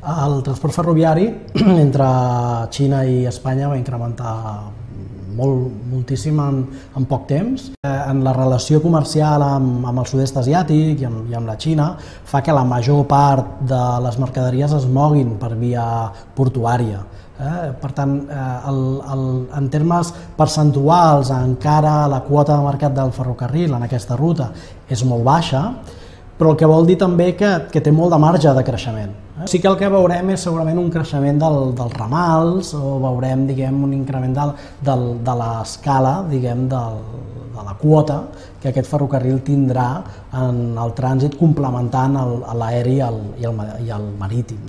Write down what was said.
El transport ferroviari entre Xina i Espanya va incrementar moltíssim en poc temps. En la relació comercial amb el sud-est asiàtic i amb la Xina fa que la major part de les mercaderies es moguin per via portuària. Per tant, en termes percentuals, encara la quota de mercat del ferrocarril en aquesta ruta és molt baixa, però el que vol dir també que té molt de marge de creixement. Sí que el que veurem és segurament un creixement dels ramals o veurem, un increment de l'escala, de la quota que aquest ferrocarril tindrà en el trànsit complementant l'aeri i el marítim.